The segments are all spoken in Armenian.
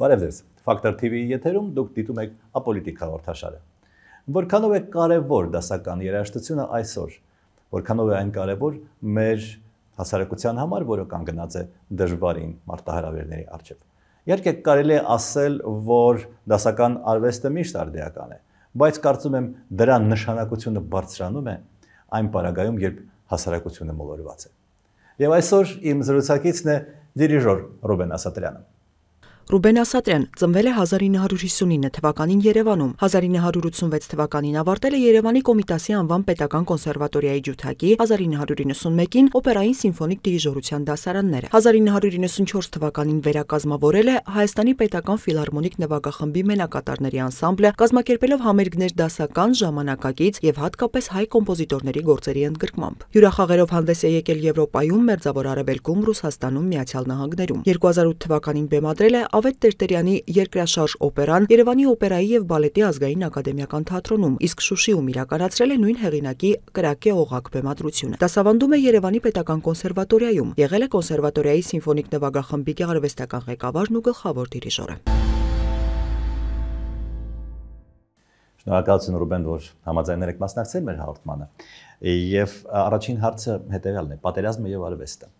Բարև ձեզ, Factor TV-ի եթերում դուք դիտում եք Ապոլիտիկ հաղորդաշարը։ Որքանով է կարևոր դասական երաժշտությունը այսօր, որքանով է այն կարևոր մեր հասարակության համար, որը կանգնած է դժվարին մարտահրավերների առջև։ Իհարկե կարելի է ասել, որ դասական արվեստը միշտ արդիական է, բայց կարծում եմ դրա նշանակությունը բարձրանում է այն պարագայում, երբ հասարակությունը մոլորված է։ Եվ այսօր իմ զրուցակիցն է դիրիժոր Ռուբեն Ասատրյանը։ Ռուբեն Ասատրյան ծնվել է 1959 թվականին Երևանում, 1986 թվականին ավարտել է Երևանի Կոմիտասի անվան պետական կոնսերվատորիայի ջութակի, 1991-ին օպերային սիմֆոնիկ դիրիժորության դասարանները, 1994 թվականին վերակազմավորել է Հայաստանի պետական ֆիլհարմոնիկ նվագախմբի մենակատարների անսամբլը, կազմակերպելով համերգներ դասական, ժամանակակից եւ հատկապես հայ կոմպոզիտորների գործերի ընդգրկմամբ։ Հյուրախաղերով հանդես է եկել Եվրոպայում, Մերձավոր Արևելքում, Ռուսաստանում, Միացյալ Նահանգներում։ 2008 թվականին բեմադրել է Ավետ Տերտերյանի երկրաշարժ օպերան Երևանի օպերայի եւ բալետի ազգային ակադեմիական թատրոնում, իսկ Շուշիում իրականացրել է նույն հեղինակի Կրակե օղակ բեմադրությունը։ Դասավանդում է Երևանի պետական կոնսերվատորիայում, եղել է կոնսերվատորիայի սիմֆոնիկ նվագախմբի գեղարվեստական ղեկավարն ու գլխավոր դիրիժորը։ Շնորհակալություն Ռուբեն, որ համաձայնել եք մասնակցել մեր հաղորդմանը։ Եվ առաջին հարցը հետևյալն է՝ պատերազմը եւ արվեստը։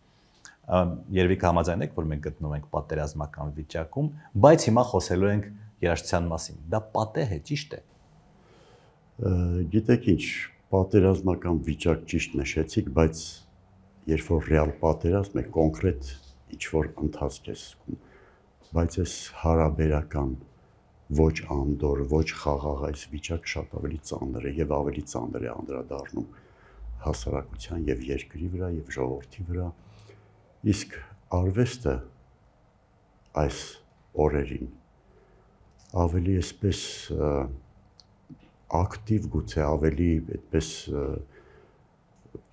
Երևի կհամաձայնեք, որ մենք գտնվում ենք պատերազմական վիճակում, բայց հիմա խոսելու ենք երաժշտության մասին։ Դա պատեհ է, ճիշտ է։ Գիտեք ինչ, պատերազմական վիճակ ճիշտ նշեցիք, բայց երբ որ ռեալ պատերազմ է, կոնկրետ ինչ-որ ընթացք է զգում, բայց այս հարաբերական ոչ անդոր, ոչ խաղաղ այս վիճակը շատ ավելի ծանր է եւ ավելի ծանր է անդրադառնում հասարակության եւ երկրի վրա եւ ժողովրդի վրա։ Իսկ արվեստը այս օրերին ավելի այսպես ակտիվ, գուցե ավելի այդպես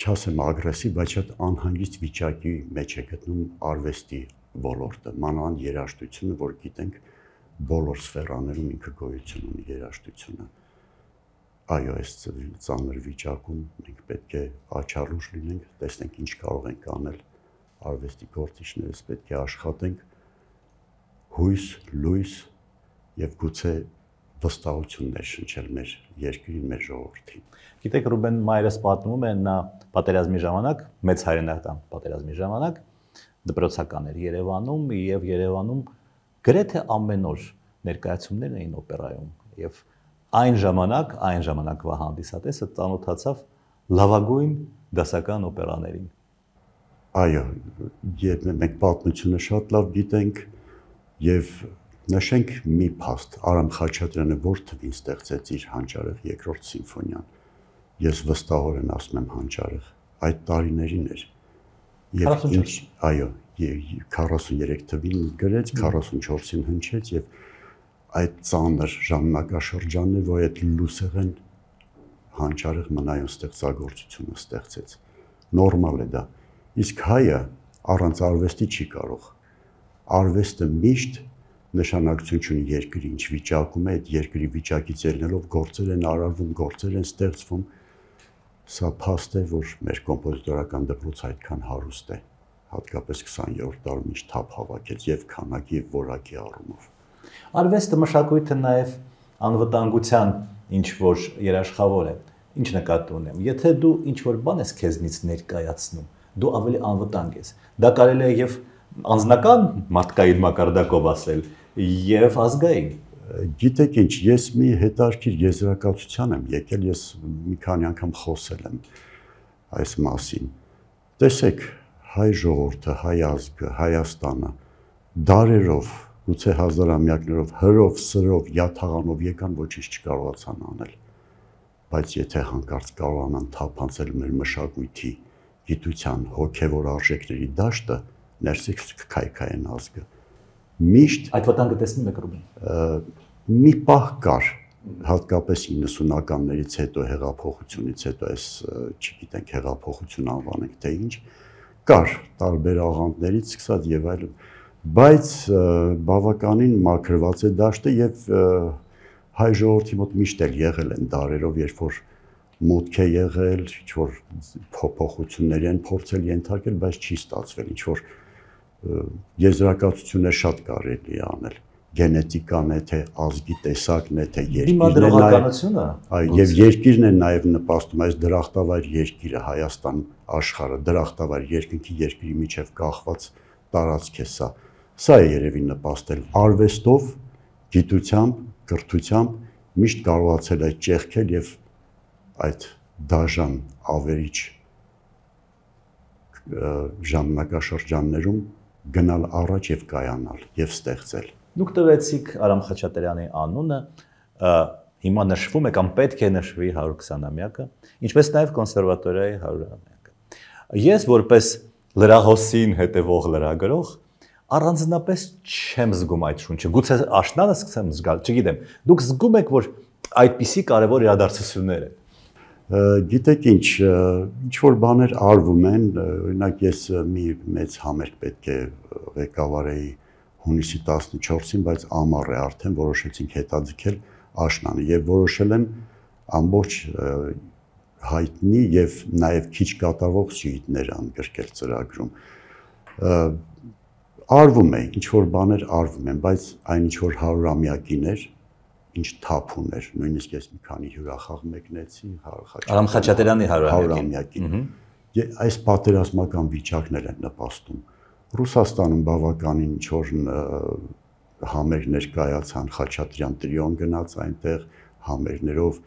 չասեմ ագրեսիվ, բայց շատ անհանգիստ վիճակի մեջ է գտնում արվեստի ոլորտը, մանավանդ երաժշտությունը, որ գիտենք բոլոր սֆերաներում ինքը գոյություն ունի երաժշտությունը։ Այո, այս ծանր վիճակում մենք պետք է աչալուր լինենք, տեսնենք ինչ կարող ենք անել արվեստի գործիչներս, պետք է աշխատենք հույս, լույս եւ գուցե վստահություններ շնչել մեր երկրին, մեր ժողովրդին։ Գիտեք, Ռուբեն մայրս պատմում է, նա պատերազմի ժամանակ, մեծ հայրենական պատերազմի ժամանակ դպրոցական էր Երևանում եւ Երևանում գրեթե ամեն օր ներկայացումներ էին օպերայում եւ այն ժամանակվա հանդիսատեսը ծանոթացավ լավագույն դասական օպերաներին։ Այո, մենք պատմությունը շատ լավ գիտենք եւ նշենք մի փաստ, Արամ Խաչատրյանը որ թվին ստեղծեց իր հանճարեղ երկրորդ սիմֆոնիան։ Ես վստահորեն ասում եմ հանճարեղ, այդ տարիներին էր։ Եվ ինչ, այո, 43 թվին գրեց, 44-ին հնչեց եւ այդ ծանր ժամանակաշրջանն է, որ այդ լուսեղեն հանճարեղ մնայուն ստեղծագործությունը ստեղծեց։ Նորմալ է դա։ Իսկ հայը առանց արվեստի չի կարող։ Արվեստը միշտ նշանակություն ունի երկրի ինչ վիճակում է, այդ երկրի վիճակից ելնելով գործեր են արարվում, գործեր են ստեղծվում։ Սա փաստ է, որ մեր կոմպոզիտորական դպրոցը այդքան հարուստ է, հատկապես 20-րդ դարում ինչ թափ հավաքեց եւ քանակի եւ որակի առումով։ Արվեստը մշակույթը նաեւ անվտանգության ինչ որ երաշխավոր է։ Ինչ նկատի ունեմ։ Եթե դու ինչ որ բան ես քեզնից ներկայացնում, դու ավելի անվտանգ ես։ Դա կարելի է եւ անձնական մարդկային մակարդակով ասել, եւ ազգային։ Գիտեք ինչ, ես մի հետարքիր եզրակացության եմ եկել, ես մի քանի անգամ խոսել եմ այս մասին։ Տեսեք, հայ ժողովուրդը, հայ ազգը, Հայաստանը դարերով, գուցե հազարամյակներով հրով, սրով, յաթաղանով եկան, ոչինչ չկարողացան անել։ Բայց եթե հանկարծ կարողանան թափանցել մեր մշակույթի, գիտության, հոգևոր արժեքների դաշտը, ներսից կքայքայեն ազգը։ Միշտ այդ վտանգը տեսնում եք Ռուբեն։ Մի պահ կար, հատկապես 90-ականներից հետո, հեղափոխությունից հետո, այս չգիտենք հեղափոխություն անվանենք թե ինչ, կար տարբեր աղանդներից սկսած եւ այլն, բայց բավականին մաքրված է դաշտը եւ հայ ժողովրդի մոտ միշտ էլ եղել են դարերով, երբ որ մուտք է եղել, ինչ որ փոփոխություններ են փորձել ենթարկել, բայց չի ստացվել, ինչ որ եզրակացություններ շատ կարելի է անել։ գենետիկան է, թե ազգի տեսակն է, թե երկիրն է, դիմադրողականությունը, եւ երկիրն է նաեւ նպաստում այս դրախտավայր երկիրը Հայաստան աշխարհը, դրախտավայր երկնքի երկրի միջև կախված տարածք է սա։ Սա է երևի նպաստել արվեստով, գիտությամբ, կրթությամբ միշտ կարողացել այդ ճեղքել եւ այդ դաժան ավերիչ ժամանակաշրջաններում գնալ առաջ եւ կայանալ եւ ստեղծել։ Դուք տվեցիք Արամ Խաչատրյանի անունը, հիմա նշվում է կամ պետք է նշվի 120-ամյակը, ինչպես նաև կոնսերվատորիայի 100-ամյակը։ Ես որպես լրահոսին հետևող լրագրող առանձնապես չեմ զգում այդ շունչը։ Գուցե աշնանը սկսեմ զգալ, չգիտեմ։ Դուք զգում եք, որ այդպիսի կարևոր իրադարձություններ են։ Գիտեք ինչ որ բաներ արվում են, օրինակ ես մի մեծ համերգ պետք է ղեկավարեի հունիսի 14-ին, բայց ամառ է արդեն որոշեցինք հետաձգել աշնանը եւ որոշել են ամբողջ հայտնի եւ նաեւ քիչ կատարվող սյուիտներ ընդգրկել ծրագրում։ Արվում է, ինչ որ բաներ արվում են, բայց այն ինչ որ 100-ամյակին էր, ինչ թափուն էր, նույնիսկ ես մի քանի հյուրախաղ մեկնեցի Արամ Խաչատրյանի 100-ամյակին։ Այս պատերազմական վիճակներ են նպաստում։ Ռուսաստանում բավականին ինչ որ համերգներ կայացան, Խաչատրյան տրիոն գնաց այնտեղ համերգներով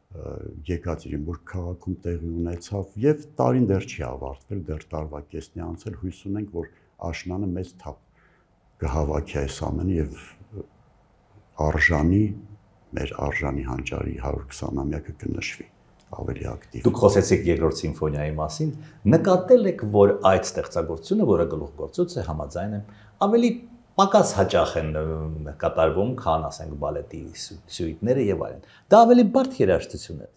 Եկատերինբուրգ քաղաքում տեղի ունեցավ եւ տարին դեռ չի ավարտվել, դեռ տարվա կեսն է անցել, հույս ունենք, որ աշնանը մեծ թափ կհավաքի այս ամենը եւ արժանի մեր արժանի հանճարի 120-ամյակը կնշվի ավելի ակտիվ։ Դուք խոսեցիք երկրորդ սիմֆոնիայի մասին, նկատել եք, որ այդ ստեղծագործությունը, որը գլուխգործոց է, համաձայն եմ, ավելի պակաս հաճախ են կատարվում, քան ասենք բալետի սյուիտները եւ այլն։ Դա ավելի բարդ երաժշտություն է։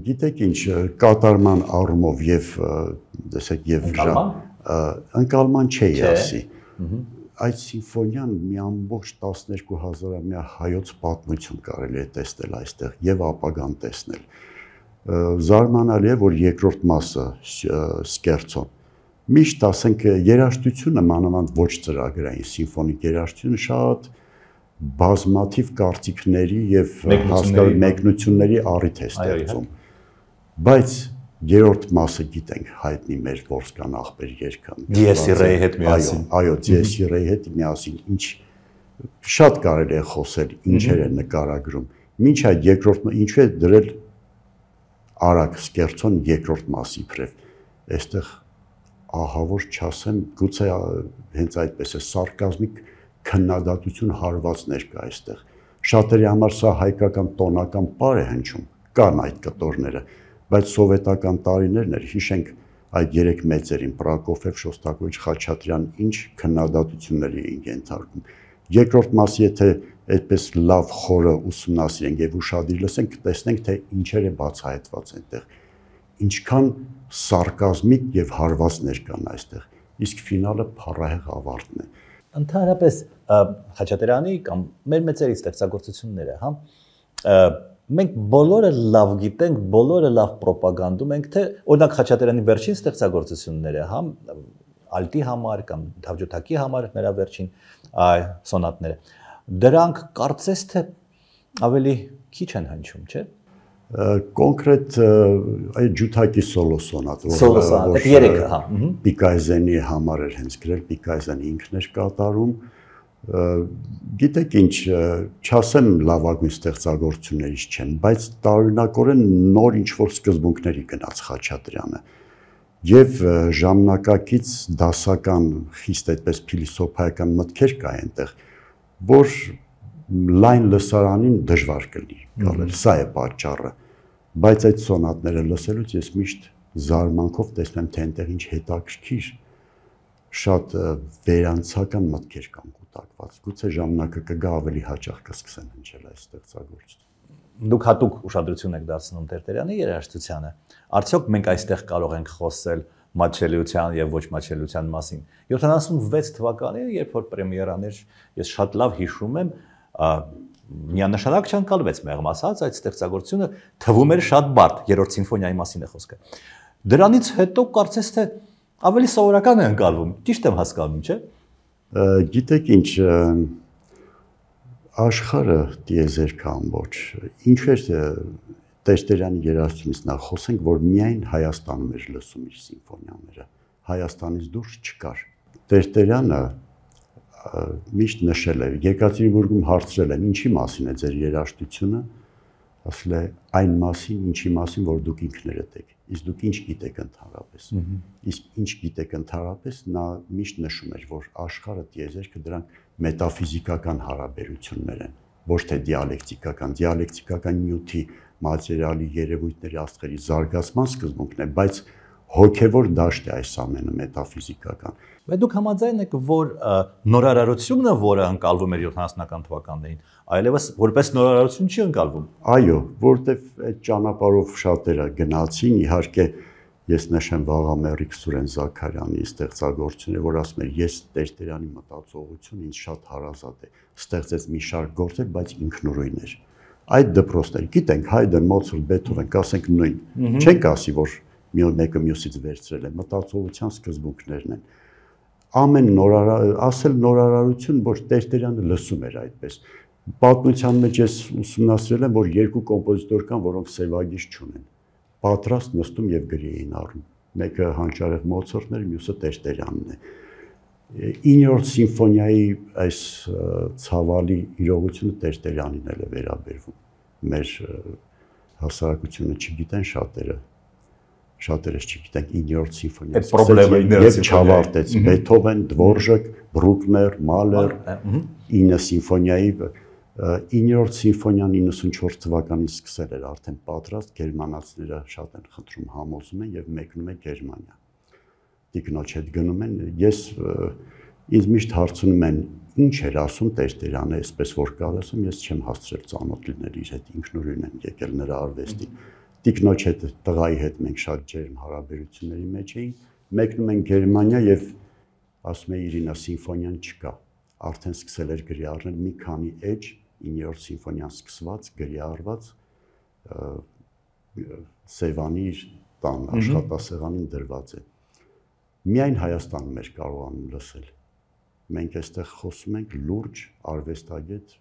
Գիտեք ինչ, կատարման առումով եւ տեսեք եւ ընկալման չի ասի։ Այդ սիմֆոնիան մի ամբողջ 12000-ամյա հայոց պատմություն կարելի է տեսնել այստեղ եւ ապագան տեսնել։ Զարմանալի է, որ երկրորդ մասը սկերցոն միշտ ասենք երաժշտությունը մանավանդ ոչ ծրագրային սիմֆոնիկ երաժշտությունը շատ բազմաթիվ կարծիքների եւ մեկնությունների առիթ է ստեղծում։ Բայց երրորդ մասը գիտենք հայտնի մեր Որսկան ախպեր երգը։ Դիեսիրեի հետ միասին։ Այո, Դիեսիրեի հետ միասին ինչ շատ կարելի է խոսել, ինչեր է նկարագրում։ Մինչ այդ երկրորդ ինչու է դրել արագ սկերցոն երկրորդ մասի իբրև։ Այստեղ ահավոր չասեմ, գուցե հենց այդպես է սարկազմիկ քննադատություն հարված ներկա այստեղ։ Շատերի համար սա հայկական տոնական պար է հնչում, կան այդ կտորները, բայց սովետական տարիներն էր, հիշենք այդ երեք մեծերին Պրոկոֆիև, Շոստակովիչ, Խաչատրյան ինչ քննադատությունների էին ենթարկում։ Երկրորդ մասը եթե այդպես լավ խորը ուսումնասիրենք եւ ուշադիր լսենք, տեսնենք թե ինչեր է բացահայտված այնտեղ։ Ինչքան սարկազմիկ եւ հարվածներ կան այստեղ։ Իսկ ֆինալը փառահեղ ավարտն է։ Ընդհանրապես Խաչատրյանի կամ մեր մեծերի ստեղծագործությունները, հա, մենք բոլորը լավ գիտենք, բոլորը լավ պրոպագանդում ենք, թե օրինակ Խաչատրյանի վերջին ստեղծագործությունները, հա, ալտի համար կամ թավջութակի համար նրա վերջին սոնատները, դրանք կարծես թե ավելի քիչ են հնչում, չէ՞։ Կոնկրետ այդ ջութակի սոլո սոնատ, այդ երեքը, հա, Պիկայզենի համար էր հենց գրել, Պիկայզենը ինքն էր կատարում։ Գիտեք ինչ, չասեմ լավագույն ստեղծագործություններից չեն, բայց տարօրինակորեն նոր ինչ-որ սկզբունքների գնաց Խաչատրյանը եւ ժամանակակից դասական խիստ այդպես փիլիսոփայական մտքեր կա այնտեղ, որ լայն լսարանին դժվար կլինի գալել, սա է պատճառը, բայց այդ սոնատները լսելուց ես միշտ զարմանքով տեսնում թե այնտեղ ինչ հետաքրքիր շատ վերանցական մտքեր կան կուտակված, գուցե ժամանակը կգա ավելի հաճախ կսկսեն հնչել այս ստեղծագործությունը։ Դուք հատուկ ուշադրություն եք դարձնում Տերտերյանի երաժշտությանը, արդյոք մենք այստեղ կարող ենք խոսել մատչելիության եւ ոչ մատչելիության մասին։ 76 թվականին, երբ որ պրեմիերան էր, ես շատ լավ հիշում եմ, միանշանակ չընկալվեց մեղմ ասած այդ ստեղծագործությունը թվում էր շատ բարդ, երրորդ սիմֆոնիայի մասին է խոսքը։ Դրանից հետո կարծես թե ավելի սովորական է ընկալվում, ճիշտ եմ հասկանում, չէ՞։ Գիտեք ինչ, Աշխարհը դիեզերք ամբողջ։ Ինչու է Տերտերյանի երաժշտությունից նախ խոսենք, որ միայն Հայաստանում էր լսում իր սիմֆոնիաները, Հայաստանից դուրս չկար։ Տերտերյանը միշտ նշել է, Եկատերինբուրգում հարցրել են, ինչի մասին է ձեր երաժշտությունը, ասել է այն մասին, ինչի մասին, որ դուք ինքներդ եք, իսկ դուք ինչ գիտեք ընդհանրապես։ Իսկ ինչ գիտեք ընդհանրապես, նա միշտ նշում էր, որ աշխարհը դիեզերքը դրանք մետաֆիզիկական հարաբերություններ են, ոչ թե դիալեկտիկական նյութի, մատերիալի, երևույթների, աստղերի զարգացման սկզբունքն է, բայց հոգևոր դաշտ է այս ամենը մետաֆիզիկական։ Բայց դուք համաձայն եք, որ նորարարությունը, որը ընկալվում էր 70-ական թվականներին, այլևս որպես նորարարություն չի ընկալվում։ Այո, որտեվ այդ ճանապարհով շատերը գնացին, իհարկե ես նշեմ Վաղամերիկ Սուրեն Զաքարյանի ստեղծագործությունը, որ ասում էր, ես Տերտերյանի մտածողությունը ինձ շատ հարազատ է, ստեղծեց մի շարք գործեր, բայց ինքնուրույն էր։ Այդ դպրոցներ, գիտենք, Հայդեն, Մոցարտ, Բեթհովեն, կասենք նույն, չենք ասի, որ մեկը մյուսից վերցրել է, մտածողության սկզբունքներն են։ Ամեն ասել նորարարություն, որ Տերտերյանը լսում էր այդպես։ Պատմության մեջ ես ուսումնասիրել եմ, որ երկու կոմպոզիտոր կան, որոնք սևագիծ չունեն։ Պատրաստ նստում եւ գրի էին առնում։ Մեկը հանճարեղ Մոցարտն էր, մյուսը Տերտերյանն է։ 9-րդ սիմֆոնիայի այս ցավալի իրողությունը Տերտերյանին էլ է վերաբերվում։ Մեր հասարակությունը չգիտեն շատերս չգիտենք 9-րդ սիմֆոնիայի եւ չավարտեց Բեթհովեն, Դվորժակ, Բրուկներ, Մալեր 9 սիմֆոնիայի 9-րդ սիմֆոնիան 94 թվականին սկսել էր արդեն պատրաստ, գերմանացիները շատ են խնդրում, համոզում են եւ մեկնում է Գերմանիա։ Տիկնոջ հետ գնում են, ինձ միշտ հարցնում են, ինչ էր ասում Տերտերյանը, այսպես որ կար ասում, ես չեմ հասցրել ծանոթ լինել իր հետ, ինքնուրույն եմ եկել նրա արվեստին։ Տիկնոջ հետ, տղայի հետ մենք շատ ջերմ հարաբերությունների մեջ էինք, մեկնում են Գերմանիա եւ ասում է Իրինա սիմֆոնիան չկա, արդեն սկսել էր գրի առնել մի քանի էջ 9-րդ սիմֆոնիան սկսված, գրի առված Սևանի իր տան աշխատասեղանին դրված է։ Միայն Հայաստանում էր կարողանում լսել։ Մենք այստեղ խոսում ենք լուրջ արվեստագետ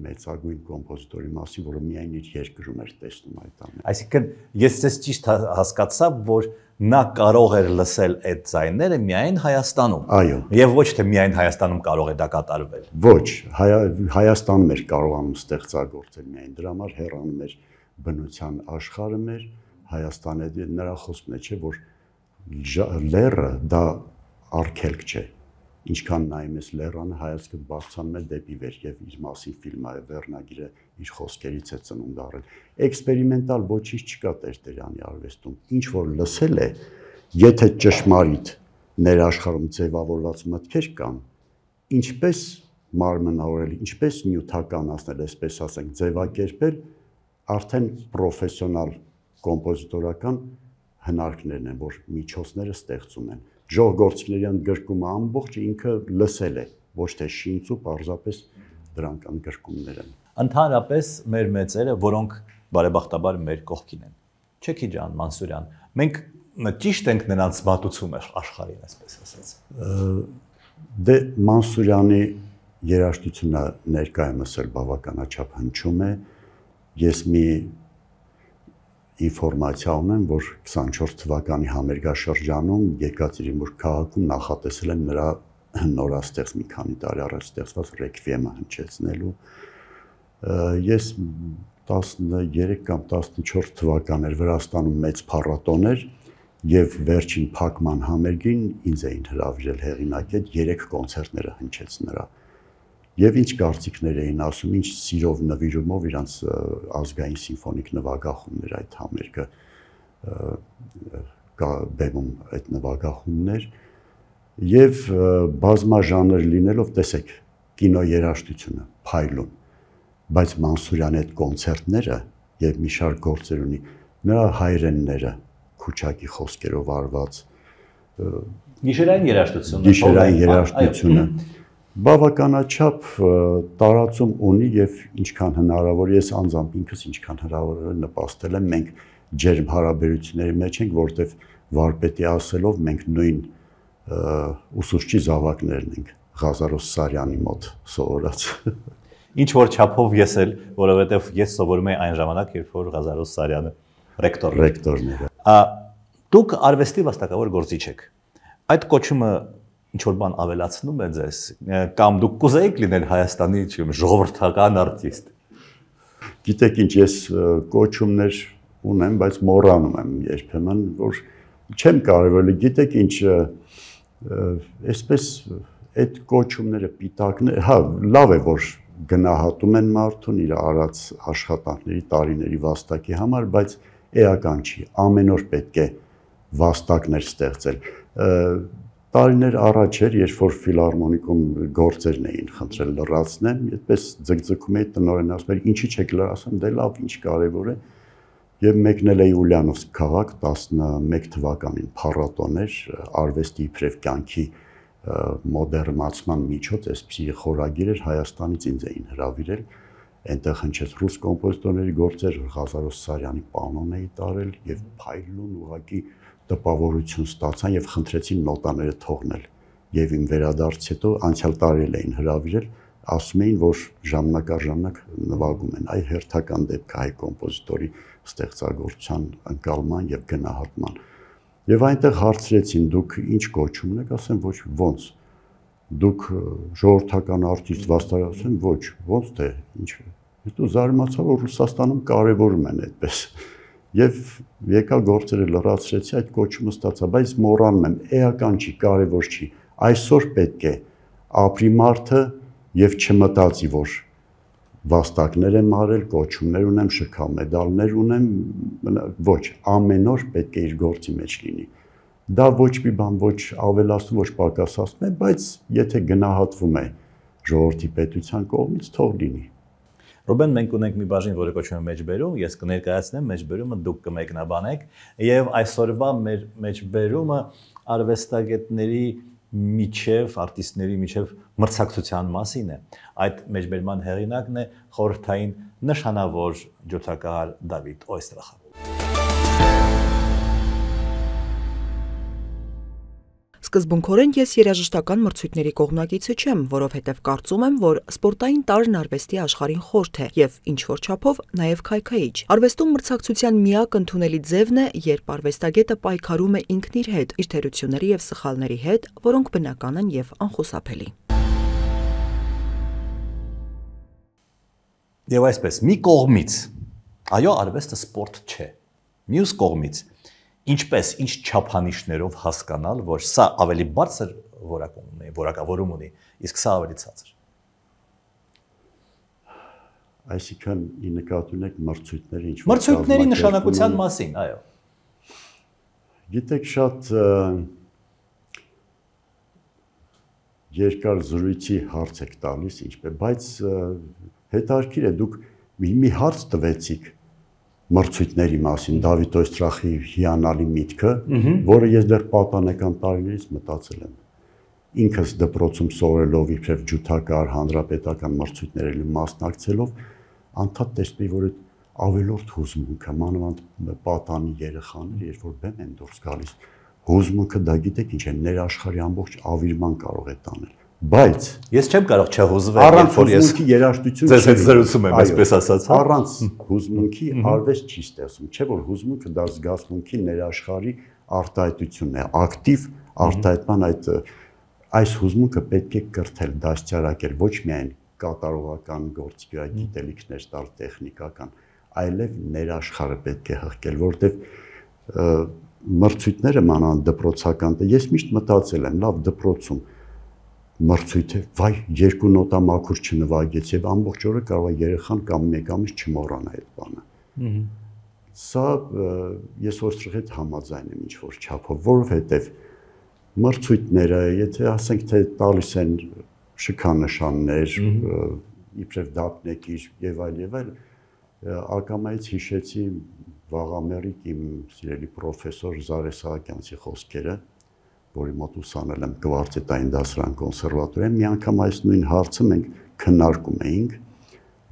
մեծագույն կոմպոզիտորի մասին, որը միայն իր երկրում էր տեսնում այդ ամենը։ Այսինքն ես ձեզ ճիշտ հասկացա, որ նա կարող էր լսել այդ ձայները միայն Հայաստանում։ Այո։ Եվ ոչ թե միայն Հայաստանում կարող է դա կատարվել։ Ոչ, Հայաստանում էր կարողանում ստեղծագործել միայն դրա համար հեռանում էր բնության աշխարհը մեր Հայաստանը նրա խոսքն է, չէ, որ լեռը դա արգելք չէ։ Ինչքան նայում ես լեռանը, հայացքդ բարձրանում է դեպի վեր եւ իր մասին ֆիլմը վերնագիրը իր խոսքերից է ծնունդ առել։ Էքսպերիմենտալ ոչինչ չկա Տերտերյանի արվեստում։ Ինչ որ լսել է, եթե ճշմարիտ ներաշխարհում ձևավորված մտքեր կան, ինչպես մարմնավորել, ինչպես նյութականացնել, այսպես ասենք, ձևակերպել, արդեն պրոֆեսիոնալ կոմպոզիտորական հնարքներն են, որ միջոցները ստեղծում են։ Ժողովրդիկներյան գրկումը ամբողջ ինքը լսել է, ոչ թե շինծու, պարզապես դրանք ընդգրկումներ են։ Ընդհանրապես մեր մեծերը, որոնք բարեբախտաբար մեր կողքին են։ Չեքի ջան, Մանսուրյան, մենք ճիշտ ենք նրանց մատուցում աշխարհին, այսպես ասած։ Դե Մանսուրյանի երաժշտությունը ներկայումս էլ բավականաչափ հնչում է։ Ես մի ինֆորմացիա ունեմ, որ 24 թվականի համերգաշրջանում Եկատերինբուրգ քաղաքում նախատեսել են նրա նորաստեղծ մի քանի տարի առաջ ստեղծված ռեկվիեմը հնչեցնելու։ Ես 13 կամ 14 թվականներ Վրաստանում մեծ փառատոն էր եւ վերջին փակման համերգին ինձ էին հրավիրել հեղինակել 3 կոնցերտները հնչեց նրա։ Եվ ինչ կարծիքներ էին ասում, ինչ սիրով նվիրումով իրանց ազգային սիմֆոնիկ նվագախումներ այդ համերգը բեմում այդ նվագախումներ եւ բազմաժանր լինելով, տեսեք, կինո երաժշտությունը փայլուն, բայց Մանսուրյանի այդ կոնցերտները եւ մի շարք գործեր ունի, նրա հայրենները Քուչակի խոսքերով արված գիշերային երաժշտությունը բավականաչափ տարածում ունի եւ ինչքան հնարավոր ես անձամբ ինքս ինչքան հնարավոր է նպաստել եմ, մենք ջերմ հարաբերությունների մեջ ենք, որտեվ վարպետի ասելով մենք նույն ուսուցչի զավակներն ենք Ղազարոս Սարյանի մոտ սովորած։ Ինչ որ չափով ես էլ, որովհետև ես սովորում եի այն ժամանակ, երբ որ Ղազարոս Սարյանը ռեկտորն էր։ Դուք արվեստի վաստակավոր գործիչ եք։ Այդ կոչումը ինչ որ բան ավելացնում է ձեզ, կամ դուք կուզեիք լինել Հայաստանի, չգիտեմ, ժողովրդական արտիստ։ Գիտեք ինչ, ես կոչումներ ունեմ, բայց մոռանում եմ երբեմն, որ չեմ կարևորի, գիտեք ինչ, այսպես այդ կոչումները պիտակներ, հա, լավ է, որ գնահատում են մարդուն իր արած աշխատանքների տարիների վաստակի համար, բայց էական չի, ամեն օր պետք է վաստակներ ստեղծել։ Տարիներ առաջ էր, երբ որ ֆիլհարմոնիկում գործերն էին խնդրել լրացնեմ, այդպես ձգձգում էի տնօրենը, ասում էր, ինչի՞ չեք լրացնում, դե լավ, ինչ կարևոր է։ Եվ մեկնել էի Ուլիանովսկ քաղաք 11 թվականին փառատոն էր, արվեստի իբրև կյանքի մոդեռնացման միջոց, այսպիսի խորագիր էր, Հայաստանից ինձ էին հրավիրել, այնտեղ հնչեց ռուս կոմպոզիտորների գործեր, Ղազարոս Սարյանի պանոն էի տարել եւ փայլուն ուղղակի տպավորություն ստացան եւ խնդրեցին նոտաները թողնել։ Եվ իմ վերադարձից հետո անցյալ տարի էին հրավիրել, ասում էին, որ ժամանակ առ ժամանակ նվագում են, այ հերթական դեպք հայ կոմպոզիտորի ստեղծագործության ընկալման եւ գնահատման։ Եվ այնտեղ հարցրեցին, դուք ինչ կոչում եք, ասեմ, ոչ, ոնց։ Դուք ժողովրդական արտիստ վաստակացին, ոչ, ոնց թե, ինչ։ Հետո զարմացա, որ Ռուսաստանում կարևորում են այդպես։ Եվ եկա գործերը լրացրեցի, այդ կոչումը ստացա, բայց մոռանում եմ, էական չի, կարևոր չի։ Այսօր պետք է ապրի մարդը եւ չմտածի, որ վաստակներ եմ արել, կոչումներ ունեմ, շքա մեդալներ ունեմ, ոչ, ամեն օր պետք է իր գործի մեջ լինի։ Դա ոչ մի բան, ոչ ավելացնում, ոչ պակասացնում է, բայց եթե գնահատվում է ժողովրդի պետության կողմից, թող լինի։ Ռուբեն, մենք ունենք մի բաժին, որը կոչվում է մեջբերում, ես կներկայացնեմ մեջբերումը, դուք կմեկնաբանեք, եւ այսօրվա մեր մեջբերումը արվեստագետների միջև, արտիստների միջև մրցակցության մասին է։ Այդ մեջբերման հեղինակն է խորհրդային նշանավոր ջութակահար Դավիթ Օյստրախը։ Սկզբունքորեն ես երաժշտական մրցույթների կողմնակիցը չեմ, որովհետև կարծում եմ, որ սպորտային տարրն արվեստի աշխարհին խորթ է եւ ինչ-որ չափով նաեւ քայքայիչ։ Արվեստում մրցակցության միակ ընդունելի ձևն է, երբ արվեստագետը պայքարում է ինքն իր հետ, իր թերությունների եւ սխալների հետ, որոնք բնական են եւ անխուսափելի։ Եվ այսպես, մի կողմից, այո, արվեստը սպորտ չէ։ Մյուս կողմից, ինչպես, ինչ չափանիշներով հասկանալ, որ սա ավելի բարձր որակավորում ունի, իսկ սա ավելի ցածր։ Այսինքն, ի նկատի ունեք մրցույթների ինչ-որ մրցույթների նշանակության մասին, այո։ Գիտեք, շատ երկար զրույցի հարց եք տալիս, ինչպես, բայց հետաքրքիր է, դուք մի հարց տվեցիք մրցույթների մասին, Դավիթ Օյստրախի հիանալի միտքը, որը ես դեռ պատանեկան տարիներից մտածել եմ։ Ինքս դպրոցում սովորելով իբրև ջութակահար հանրապետական մրցույթների մասնակցելով, անդադ տեսնեի, որ այդ ավելորդ հուզմունքը, մանավանդ պատանի երեխաները, երբ որ բեմ են դուրս գալիս, հուզմունքը դա գիտեք ինչ է, ներաշխարհի ամբողջ ավիրման կարող է տանել։ Բայց ես չեմ կարող չհուզվել, առանց հուզմունքի երաժշտություն ձեզ հետ զրուցում եմ, այսպես ասած, առանց հուզմունքի արվեստ չի ստեղծում, չէ՞ որ հուզմունքը դա զգացմունքի ներաշխարհի արտահայտությունն է, ակտիվ արտահայտման այս հուզմունքը պետք է կրթել, դաստիարակել, ոչ միայն կատարողական գործի վրա գիտելիքներ տալ տեխնիկական, այլև ներաշխարհը պետք է հղկել, որովհետև մրցույթները մանավանդ դպրոցական, ես միշտ մտածել եմ, լավ դպրոցում մրցույթ է, վայ, երկու նոտա մաքուր չնվագեց եւ ամբողջ օրը կարող է երեխան կամ մեկ ամիս չմոռանա այդ բանը։ Սա ես Օյստրախի հետ համաձայն եմ ինչ որ չափով, որովհետեւ մրցույթները, եթե ասենք թե տալիս են շքանշաններ, իբրև դափնեկիր եւ այլ, ակամայից հիշեցի վաղամերիկ իմ սիրելի պրոֆեսոր Զարե Սահակյանցի խոսքերը, որի մոտ ուսանել եմ կվարտետային դասարան կոնսերվատորիայում, մի անգամ այս նույն հարցը մենք քննարկում էինք,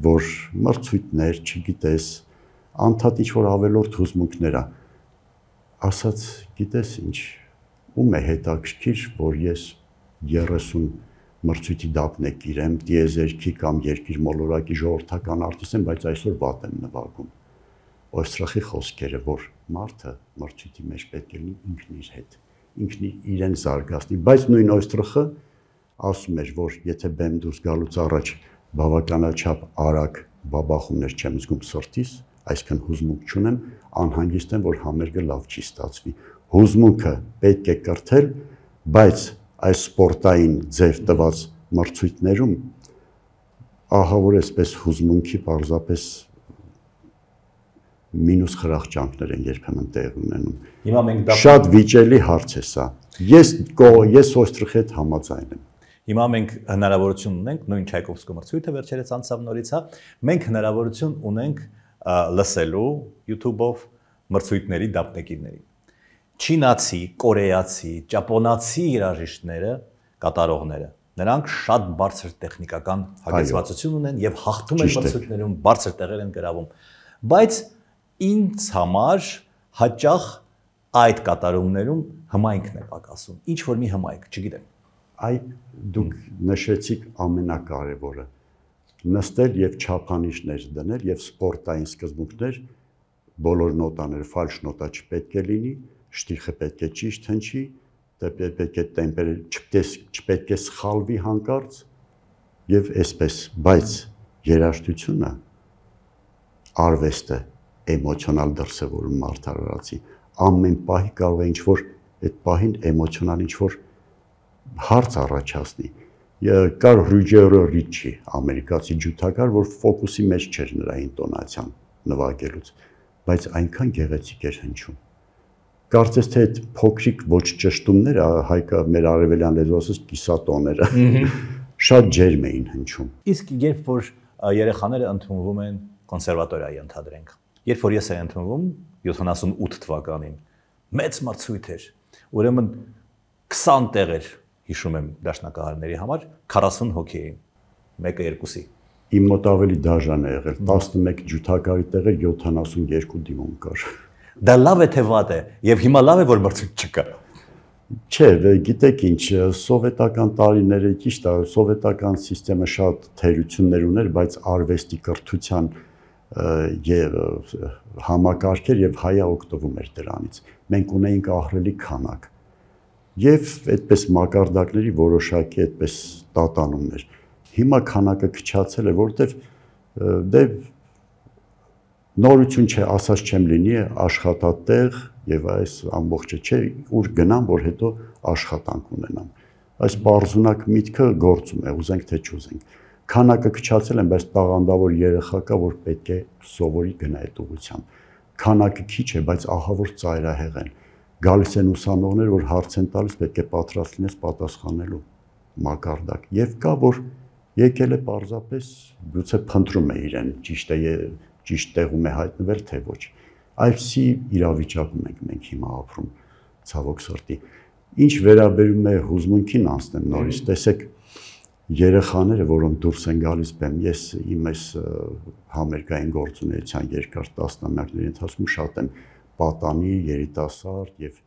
որ մրցույթներ, չգիտես, անդադ ինչ-որ ավելորդ հուզմունքներ է, ասաց, գիտես ինչ, ում է հետաքրքիր, որ ես 30 մրցույթի դափնեկիր եմ, դիեզերքի կամ երկիր մոլորակի ժողովրդական արտիստ եմ, բայց այսօր վատ եմ նվագում։ Օյստրախի խոսքերը, որ մարդը մրցույթի մեջ պետք է լինի ինքն իր հետ, ինքն իրեն զարգացնի, բայց նույն Օյստրախը ասում էր, որ եթե բեմ դուրս գալուց առաջ բավականաչափ արագ բաբախումներ չեմ զգում սրտիս, այսքան հուզմունք չունեմ, անհանգիստ եմ, որ համերգը լավ չի ստացվի։ Հուզմունքը պետք է կրթել, բայց այս սպորտային ձև տված մրցույթներում ահա որ այսպես հուզմունքի պարզապես մինուս խրախճանքներ են երբեմն տեղ ունենում։ Հիմա մենք դա շատ վիճելի հարց է սա։ Ես Օյստրախի հետ համաձայն եմ։ Հիմա մենք հնարավորություն ունենք, նույն Չայկովսկու մրցույթը վերջերս անցավ նորից, հա, մենք հնարավորություն ունենք լսելու YouTube-ով մրցույթների դափնեկիրներին։ Չինացի, կորեացի, ճապոնացի երաժիշտները, կատարողները, նրանք շատ բարձր տեխնիկական հագեցվածություն ունեն եւ հաղթում են մրցույթներում, բարձր տեղեր են գրավում։ Բայց ինձ համար հաճախ այդ կատարումներում հմայքն է պակասում։ Ինչ որ մի հմայք, չգիտեմ։ Այ դուք նշեցիք ամենակարևորը՝ նստել եւ չափանիշներ դնել եւ սպորտային սկզբունքներ, բոլոր նոտաները ֆալշ նոտա չպետք է լինի, շտիխը պետք է ճիշտ հնչի, պետք է տեմպերը չպետք է սխալվի հանկարծ եւ այսպես, բայց երաժշտությունը արվեստը էմոցիոնալ դրսևորում մարդարարացի ամեն պահի կարող է ինչ-որ այդ պահին էմոցիոնալ ինչ-որ հարց առաջացնի։ Կար Ռուջերո Ռիչի, ամերիկացի ջութակար, որ ֆոկուսի մեջ չէր նրա ինտոնացիան նվագելուց, բայց այնքան գեղեցիկ էր հնչում։ Կարծես թե այդ փոքրիկ ոչ ճշտումները, հայկա մեր արևելյան լեզվով ասած կիսատոները, շատ ջերմ էին հնչում։ Իսկ երբ որ երեխաները ընդունվում են կոնսերվատորիայի ընդհանրենք, երբ որ ես եմ ընդունվում 78 թվականին, մեծ մրցույթ էր, ուրեմն 20 տեղեր հիշում եմ դաշնակահարների համար 40 հոգի էին, մեկը երկուսի։ Իմ մոտ ավելի դաժան է եղել, 11 ջութակարի տեղեր 72 դիմում կար։ Դա լավ է թե վատ է, եւ հիմա լավ է որ մրցույթ չկա։ Չէ, գիտեք ինչ, սովետական տարիները ճիշտ է, սովետական համակարգը շատ թերություններ ուներ, բայց արվեստի կրթության եւ համակարգեր եւ հայը օգտվում էր դրանից։ Մենք ունեինք ահռելի քանակ։ Եվ այդպես մակարդակների որոշակի այդպես տատանումներ։ Հիմա քանակը քչացել է, որտեվ դե նորություն չէ, ասած չեմ լինի, աշխատատեղ եւ այս ամբողջը չէ, ուր գնամ, որ հետո աշխատանք ունենամ։ Այս բարձունակ միտքը գործում է, ուզենք թե չուզենք։ Քանակը քչացել են, բայց տաղանդավոր երեխա կա, որ պետք է սովորի գնա այդ ուղղությամբ։ Քանակը քիչ է, բայց ահա որ ծայրահեղ են։ Գալիս են ուսանողներ, որ հարց են տալիս, պետք է պատրաստ լինես պատասխանելու մակարդակ։ Եվ կա, որ եկել է պարզապես գուցե փնտրում է իրեն, ճիշտ տեղում է հայտնվել, թե ոչ։ Այսի իրավիճակում ենք մենք հիմա ապրում, ցավոք սրտի։ Ինչ վերաբերում է հուզմունքին անցնեմ նորից, տեսեք, երեխաները, որոնք դուրս են գալիս բեմ, ես իմ այս համերգային գործունեության երկար տասնամյակների ընթացքում շատ եմ պատանի, երիտասարդ եւ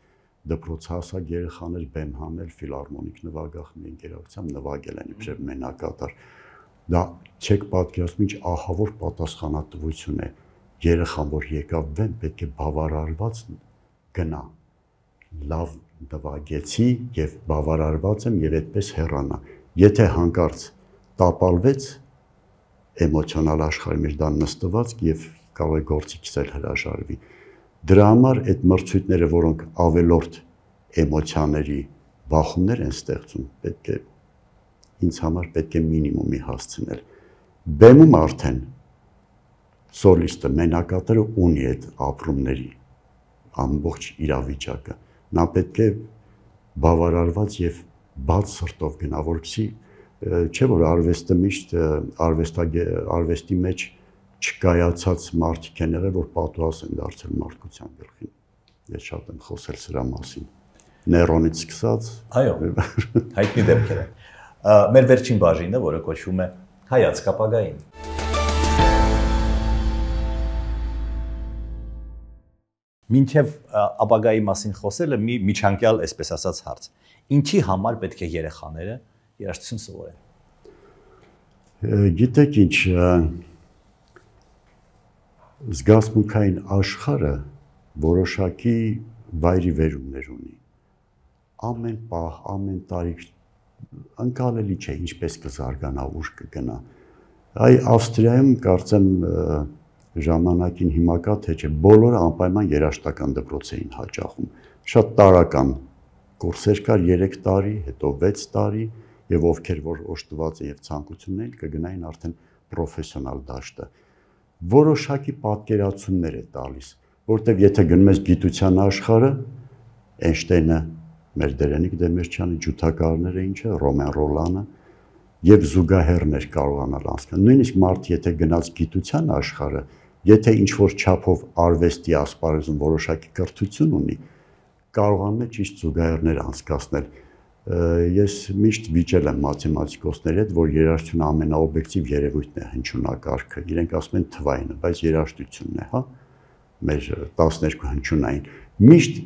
դպրոցահասակ երեխաներ բեմ հանել ֆիլհարմոնիկ նվագախմբի ընկերակցությամբ նվագել են իբրև մենակատար։ Դա չեք պատկերացնում ինչ ահավոր պատասխանատվություն է։ Երեխան, որ եկավ բեմ, պետք է բավարարված գնա։ Լավ նվագեցի եւ բավարարված եմ եւ այդպես հեռանա։ Եթե հանկարծ տապալվեց էմոցիոնալ աշխարհի մեջ դա նստված եւ կարող է գործիքից էլ հրաժարվի։ Դրա համար այդ մրցույթները, որոնք ավելորդ էմոցիաների բախումներ են ստեղծում, պետք է ինձ համար պետք է մինիմումի հասցնել։ Բեմում արդեն սոլիստը, մենակատարը ունի այդ ապրումների ամբողջ իրավիճակը։ Նա պետք է բավարարված եւ բաց սրտով գնա, որպեսզի չէ որ արվեստը միշտ արվեստի մեջ չկայացած մարդիկ են եղել, որ պատուհաս են դարձել մարդկության գլխին։ Ես շատ եմ խոսել սրա մասին։ Նեյրոնից սկսած։ Այո, հայտնի դեպքեր են։ Մեր վերջին բաժինը, որը կոչվում է հայացք ապագային։ Մինչև ապագայի մասին խոսելը մի միջանկյալ, այսպես ասած, հարց։ Ինչի համար պետք է երեխաները երաժշտություն սովորեն։ Գիտեք ինչ, զգացմունքային աշխարհը որոշակի վայրի վերումներ ունի։ Ամեն պահ, ամեն տարի ընկալելի չէ ինչպես կզարգանա, ուր կգնա։ Այ Ավստրիայում կարծեմ ժամանակին հիմա կա թե չէ, բոլորը անպայման երաժշտական դպրոց էին հաճախում։ Շատ տարրական կուրսեր կար 3 տարի, հետո 6 տարի, եւ ովքեր որ օժտված է եւ ցանկություն ունեն կգնային արդեն պրոֆեսիոնալ դաշտը։ Որոշակի պատկերացումներ է տալիս, որտեվ եթե գնում ես գիտության աշխարհը, Էյնշտեյնը, մեր Դերենիկ Դեմիրճյանը, ջութակարները ինչը, Ռոմեն Ռոլանը եւ զուգահեռներ կարողանալ անցնել։ Նույնիսկ մարդ եթե գնաց գիտության աշխարհը, եթե ինչ որ չափով արվեստի ասպարեզում որոշակի կրթություն ունի, կարողանում է ճիշտ զուգահեռներ անցկացնել։ Ես միշտ վիճել եմ մաթեմատիկոսների հետ, որ երաժշտությունը ամենաօբյեկտիվ երևույթն է հնչյունակարգը։ Իրենք ասում են թվայինը, բայց երաժշտությունն է, հա, մեր 12 հնչյունային։ Միշտ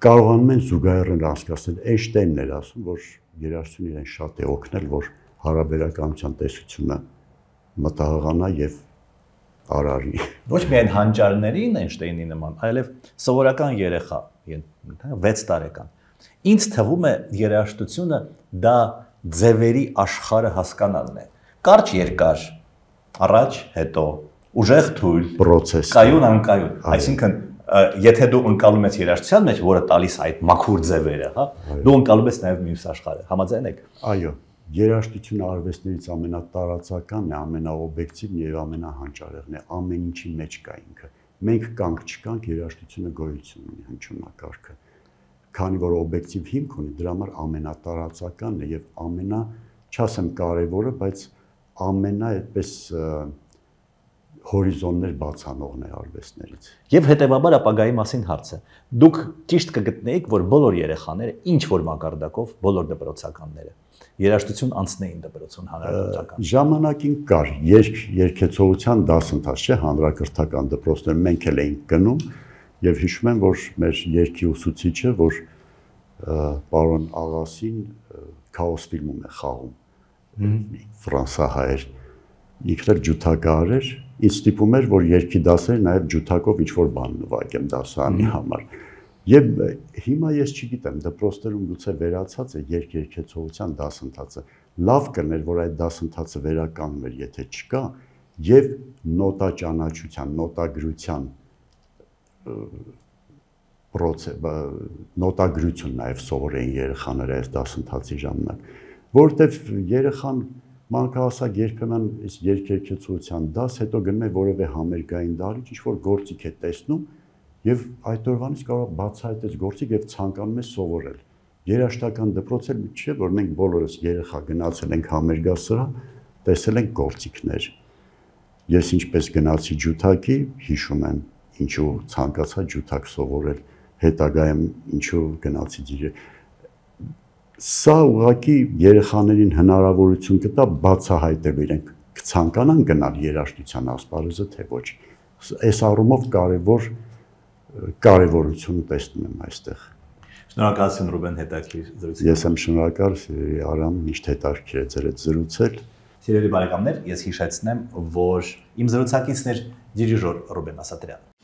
կարողանում են զուգահեռներ անցկացնել։ Էյնշտեյնն էր ասում, որ երաժշտությունը իրեն շատ է օգնել, որ հարաբերականության տեսությունը մտահղանա եւ արարի։ Ոչ միայն հանճարներին Էյնշտեյնի նման, այլև սովորական երեխա, 6 տարեկան։ Ինձ թվում է երաժշտությունը դա ձևերի աշխարհը հասկանալն է։ Կարճ երկար, առաջ, հետո, ուժեղ թույլ, պրոցես, կայուն անկայուն։ Այսինքն, եթե դու ընկալում ես երաժշտության մեջ, որը տալիս այդ մաքուր ձևերը, հա, դու ընկալում ես նաև մյուս աշխարհը։ Համաձայն եք։ Այո, երաժշտությունը արվեստներից ամենատարածականն է, ամենաօբյեկտիվն եւ ամենահանճարեղն է, ամեն ինչի մեջ կա ինքը։ Մենք կանք չկանք, երաժշտությունը գոյություն ունի հնչյունակարգը։ Քանի որ օբյեկտիվ հիմք ունի, դրա համար ամենատարածականն է եւ ամենա, չասեմ կարևորը, բայց ամենա այդպես հորիզոններ բացանողն է արվեստներից։ Եվ հետեւաբար ապագայի մասին հարցը։ Դուք ճիշտ կգտնեիք, որ բոլոր երեխաները, ինչ որ մակարդակով, բոլոր դպրոցականները երաժշտություն անցնեին դպրոցում հանրակրթական։ Ժամանակին կար երգեցողության դասընթաց, չէ, հանրակրթական դպրոցներ մենք էլ էինք գնում եւ հիշում եմ, որ մեր երգի ուսուցիչը, որ պարոն Աղասին Քաոս ֆիլմում է խաղում, ֆրանսահայեր, ինքն էլ ջութակահար էր, ինձ ստիպում էր, որ երգի դասերը նաեւ ջութակով ինչ-որ բան նվագեմ դասարանի համար։ Եվ հիմա ես չգիտեմ, դպրոցներում գուցե վերացած է երգեցողության դասընթացը։ Լավ կներ, որ այդ դասընթացը վերականգնվեր, եթե չկա, եւ նոտա ճանաչության, նոտագրության նոտագրություն նաև սովորեին երեխաները այս դասընթացի ժամանակ, որովհետև երեխան մանկահասակ երբեմն երգեցողության դաս, հետո գնում է որևէ համերգային դահլիճ, ինչ-որ գործիք է տեսնում եւ այդ օրվանից կարող է բացահայտել գործիք եւ ցանկանում է սովորել։ Երաժշտական դպրոց էլ չէ, որ մենք բոլորս երեխա գնացել ենք համերգասրահ, տեսել ենք գործիքներ։ Ես ինչպես գնացի ջութակի, հիշում եմ, ինչու ցանկացա ջութակ սովորել, հետագայում ինչու գնացի դիրը։ Սա ուղղակի երեխաներին հնարավորություն կտա բացահայտել իրենք կցանկանան գնալ երաժշտության ասպարեզը, թե ոչ։ Այս առումով կարևորություն տեսնում եմ այստեղ։ Շնորհակալություն Ռուբեն հետաքրքիր զրույցի։ Ես եմ շնորհակալ Արամ, միշտ հետաքրքիր է ձեր հետ զրուցել։ Սիրելի բարեկամներ, ես հիշեցնեմ, որ իմ զրուցակիցն էր դիրիժոր Ռուբեն Ասատրյանը։